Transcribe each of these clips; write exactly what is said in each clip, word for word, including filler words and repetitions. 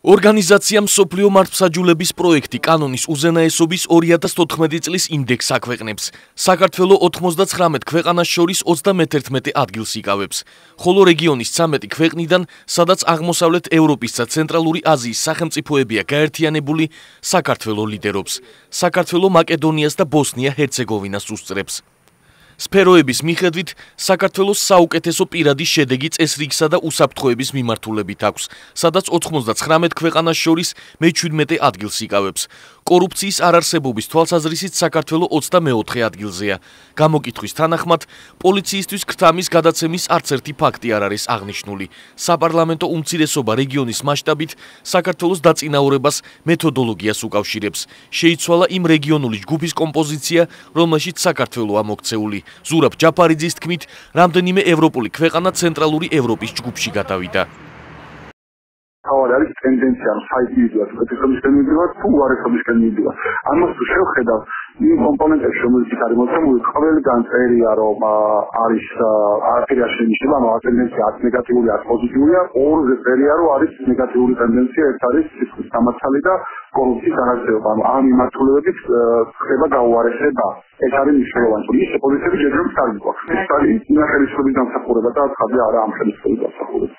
ორგანიზაციამ მსოფლიო მართლმსაჯულების პროექტი კანონის უზენაესობის ორი ათას თოთხმეტი წლის ინდექსს აქვეყნებს. საქართველო ოთხმოცდაცხრამეტ ქვეყანას შორის ოცდამეთერთმეტე ადგილს იკავებს, ხოლო რეგიონის ცამეტი ქვეყნიდან, სადაც აღმოსავლეთ ევროპისა და ცენტრალური აზიის სახელმწიფოებია გაერთიანებული, საქართველო ლიდერობს. საქართველო მაკედონიას და ბოსნია-ჰერცეგოვინას უსწრებს. სფეროების მიხედვით საქართველოს საუკეთესო პირადი შედეგი წესრიგისა და უსაფრთხოების მიმართულებით აქვს, სადაც ოთხმოცდაცხრამეტ ქვეყანას შორის მეჩვიდმეტე ადგილს იკავებს. კორუფციის არარსებობის თვალსაზრისით საქართველო ოცდამეოთხე ადგილზეა. გამოკითხვის თანახმად, პოლიციისთვის ქრთამის გადაცემის არც ერთი ფაქტი არ არის აღნიშნული. საპარლამენტო უმცირესობა რეგიონის მასშტაბით საქართველოს დაწინაურებას მეთოდოლოგიას უკავშირებს. შეიცვალა იმ რეგიონული ჯგუფის კომპოზიცია, რომელშიც საქართველოა მოქცეული. ზურაბ ჯაფარიძის თქმით, რამდენიმე ევროპული ქვეყანა ცენტრალური ევროპის ჯგუფში გადავიდა. თავად არის ტენდენცია, რომ საიდიუდად უკეთესობისკენ მივიდივართ, თუ უარესობისკენ მივიდივართ. ამას თუ შევხედავ, იმ კომპონენტებში, რომელიც არის მოცემული, ყველგან წერია, რომ არის არაფერი არ შენიშნება, ანუ ტენდენცია არც ნეგატიური, არც პოზიტიურია. ორზე წერია, რომ არის ნეგატიური ტენდენცია, ეს არის სისხლის დამაცალი და კორუფციის არარსებობა. ანუ ამ მიმართულებებით ხდება გაუარესება. ეს არის მნიშვნელოვანი. ის პოლიციები ჯერჯერობით კარგი გვაქვს. ეს არის ინახელისობის დამსახურება და ცხადია არა ამ ხელისუფლების დამსახურება.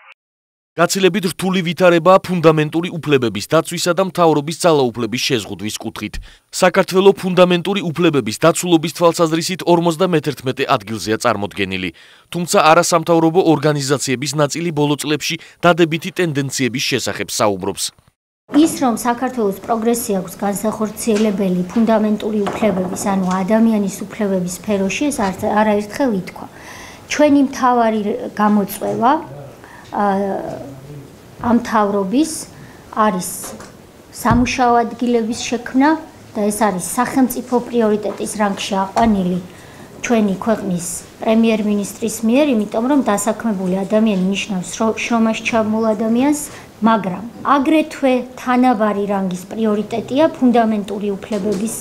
გაცილებით რთული ვითარებაა ფუნდამენტური უფლებების დაცვისა და მთავრობის ძალაუფლების შეზღუდვის კუთხით. საქართველო ფუნდამენტური უფლებების დაცულობის თვალსაზრისით ორმოცდამეთერთმეტე ადგილზეა წარმოდგენილი. თუმცა არასამთავრობო ორგანიზაციების ნაწილი ბოლო წლებში დადებითი ტენდენციების შესახებ საუბრობს. ის რომ საქართველოს პროგრესი აქვს განსახორციელებელი ფუნდამენტური უფლებების, ანუ ადამიანის უფლებების სფეროში, ეს არაერთხელ ითქვა. ჩვენი მთავარი გამოწვევა ამ მთავრობის არის სამუშაო ადგილების შექმნა და ეს არის სახელმწიფო პრიორიტეტის რანგში აყვანილი ჩვენი ქვეყნის პრემიერ-მინისტრის მიერ, იმიტომ რომ დასაქმებული ადამიანი ნიშნავს შრომაში ჩაბმულ ადამიანს, მაგრამ აგრეთვე თანაბარი რანგის პრიორიტეტია ფუნდამენტური უფლებების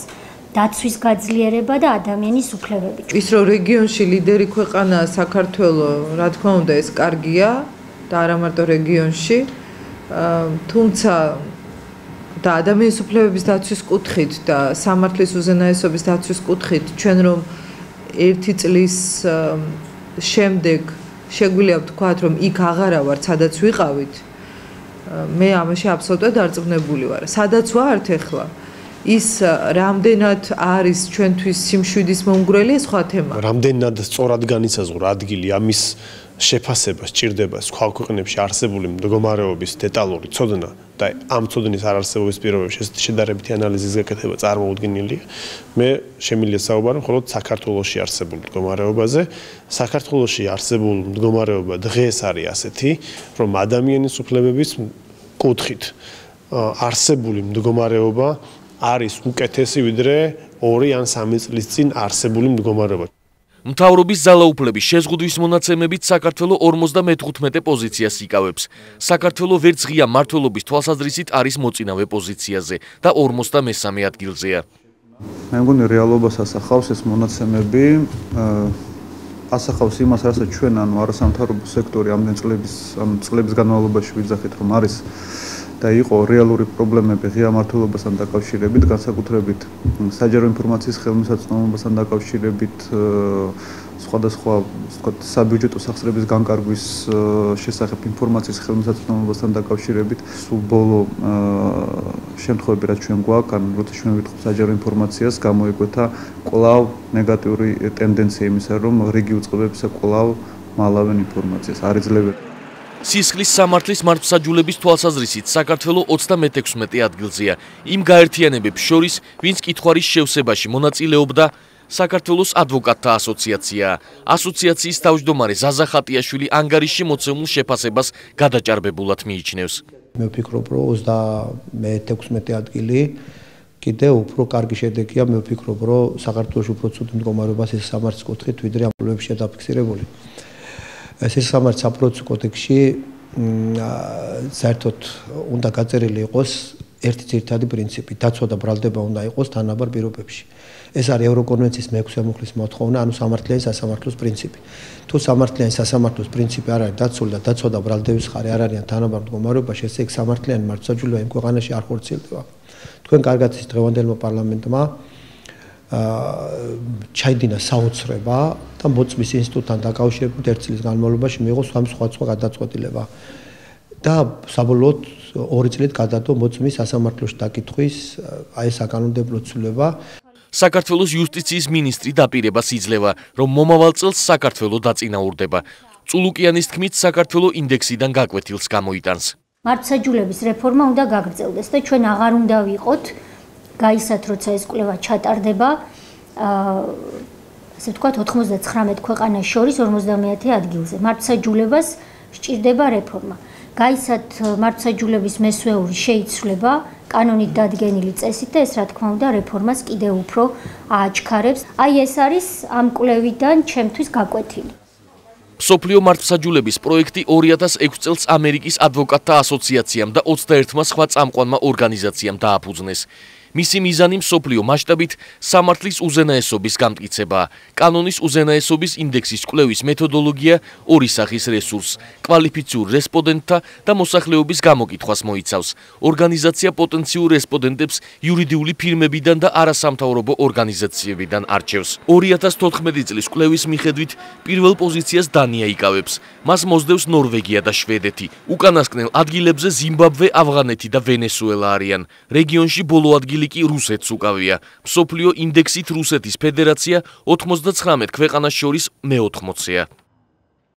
დაცვის გაძლიერება და ადამიანის უფლებები. ის რომ რეგიონში ლიდერი ქვეყანაა საქართველო, რა თქმა უნდა, ეს კარგია და არა მარტო რეგიონში, თუმცა და ადამიანის უფლებების დაცვის კუთხით და სამართლის უზენაესობის დაცვის კუთხით ჩვენ რომ ერთი წლის შემდეგ შეგვიძლია ვთქვათ, რომ იქ აღარა ვართ, სადაც ვიყავით, მე ამაში აბსოლუტურად დარწმუნებული ვარ. სადაც ვართ ახლა, ის რამდენად არის ჩვენთვის სიმშვიდის მომგვრელი, სხვა თემა. რამდენად სწორად განისაზღვრა ადგილი ამის შეფასება სჭირდება სხვა ქვეყნებში არსებული მდგომარეობის დეტალური ცოდნა და ამ ცოდნის არარსებობის პირობებში შედარებითი ანალიზის გაკეთება წარმოუდგენელია. მე შემიძლია საუბარო მხოლოდ საქართველოში არსებულ მდგომარეობაზე. საქართველოში არსებულ მდგომარეობა დღეს არის ასეთი, რომ ადამიანის უფლებების კუთხით არსებული მდგომარეობა არის უკეთესი ვიდრე ორი ან სამი წლის წინ არსებული მდგომარეობა. მთავრობის ძალაუფლების შეზღუდვის მონაცემებით საქართველო ორმოცდამეთხუთმეტე პოზიციას იკავებს. საქართველო ვერც ღია მმართველობის თვალსაზრისით არის მოწინავე პოზიციაზე და ორმოცდამესამე ადგილზეა. მე მგონი რეალობას ასახავს ეს მონაცემები, ასახავს იმას, რასაც ჩვენ ანუ არასამთავრობო სექტორი ამდენ წლების ანუ წლების განმავლობაში ვიძახით, რომ არის და იყო რეალური პრობლემები ღია მმართველობასთან დაკავშირებით, განსაკუთრებით საჯარო ინფორმაციის ხელმისაწვდომობასთან დაკავშირებით, სხვადასხვა ვთქვათ საბიუჯეტო სახსრების განკარგვის შესახებ ინფორმაციის ხელმისაწვდომობასთან დაკავშირებით, სულ ბოლო შემთხვევები რაც ჩვენ გვაქვს, ან როცა ჩვენ ვითხოვთ საჯარო ინფორმაციას, გამოიკვეთა კვლავ ნეგატიური ტენდენცია იმისა, რომ რიგი უწყებებისა კვლავ მალავენ ინფორმაციას, არ იძლევენ. სისხლის სამართლის მართლმსაჯულების თვალსაზრისით საქართველო ოცდამეექვსმეტე ადგილზეა. იმ გაერთიანებებს შორის, ვინც კითხვარის შევსებაში მონაწილეობდა, საქართველოს ადვოკატთა ასოციაცია. ასოციაციის თავმჯდომარე ზაზა ხატიაშვილი ანგარიშში მოცემულ შეფასებას გადაჭარბებულად მიიჩნევს. მე ვფიქრობ, რომ ოცდამეექვსმეტე ადგილი კიდევ უფრო კარგი შედეგია. მე ვფიქრობ, რომ საქართველოს უფრო ცუდ მდგომარეობას ეს სამართლის კუთხით ვიდრე ამ პრობლემებში დაფიქსირებული. ეს სამართლის საპროცესო კოდექსში საერთოდ უნდა გაწერილი იყოს ერთი ძირითადი პრინციპი, დაცვა და ბრალდება უნდა იყოს თანაბარ პირობებში. ეს არის ევროკონვენციის მეექვსე მუხლის მოთხოვნა, ანუ სამართლიანი სასამართლოს პრინციპი. თუ სამართლიანი სასამართლოს პრინციპი არ არის დაცული და დაცვა და ბრალდების ხარი არ არიან თანაბარ მდგომარეობაში, ესე იგი სამართლიანი მართლმსაჯულება იმ ქვეყანაში არ ხორციელდება. თქვენ კარგად ის დღევანდელმა პარლამენტმა ჩაიდინა საოცრება და მოწმის ინსტიტუტთან დაკავშირებით ერთ წლის განმავლობაში მიიღო სხვადასხვა გადაწყვეტილება. და საბოლოოდ ორი წლით გადადო მოწმის სასამართლოში დაკითხვის აი საკანონმდებლო ცვლილება. საქართველოს იუსტიციის მინისტრი დაპირებას იძლევა, რომ მომავალ წელს საქართველო დაწინაურდება. წულუკიანის თქმით, საქართველო ინდექსიდან გაკვეთილს გამოიტანს. მართლმსაჯულების რეფორმა უნდა გაგრძელდეს და ჩვენ აღარ უნდა ვიყოთ გაისად, როცა ეს კვლევა ჩატარდება, ასე ვთქვათ, ოთხმოცდაცხრამეტ ქვეყანას შორის ორმოცდამეათე ადგილზე. მართლმსაჯულებას სჭირდება რეფორმა. გაისად მართლმსაჯულების მესვეული შეიცვლება კანონით დადგენილი წესით და ეს რა თქმა უნდა რეფორმას კიდევ უფრო ააჩქარებს. აი ეს არის ამ კვლევიდან ჩემთვის გაკვეთილი. მსოფლიო მართლმსაჯულების პროექტი ორი ათას ექვსი წელს ამერიკის ადვოკატთა ასოციაციამ და ოცდაერთმა სხვა წამყვანმა ორგანიზაციამ დააფუძნეს. მისი მიზანი მსოფლიო მასშტაბით სამართლის უზენაესობის გამტკიცებაა. კანონის უზენაესობის ინდექსის კვლევის მეთოდოლოგია ორი სახის რესურსს, კვალიფიციურ რესპონდენტთა და მოსახლეობის გამოკითხვას მოიცავს. ორგანიზაცია პოტენციურ რესპონდენტებს იურიდიული ფირმებიდან და არასამთავრობო ორგანიზაციებიდან არჩევს. ორი ათას თოთხმეტი წლის კვლევის მიხედვით პირველ პოზიციას დანია იკავებს. მას მოსდევს ნორვეგია და შვედეთი. უკანასკნელ ადგილებზე ზიმბაბვე, ავღანეთი და ვენესუელა არიან. რეგიონში ბოლო ადგილი კი რუსეთს უკავია. მსოფლიო ინდექსით რუსეთის ფედერაცია ოთხმოცდაცხრამეტ ქვეყანას შორის მეოთხმოცეა.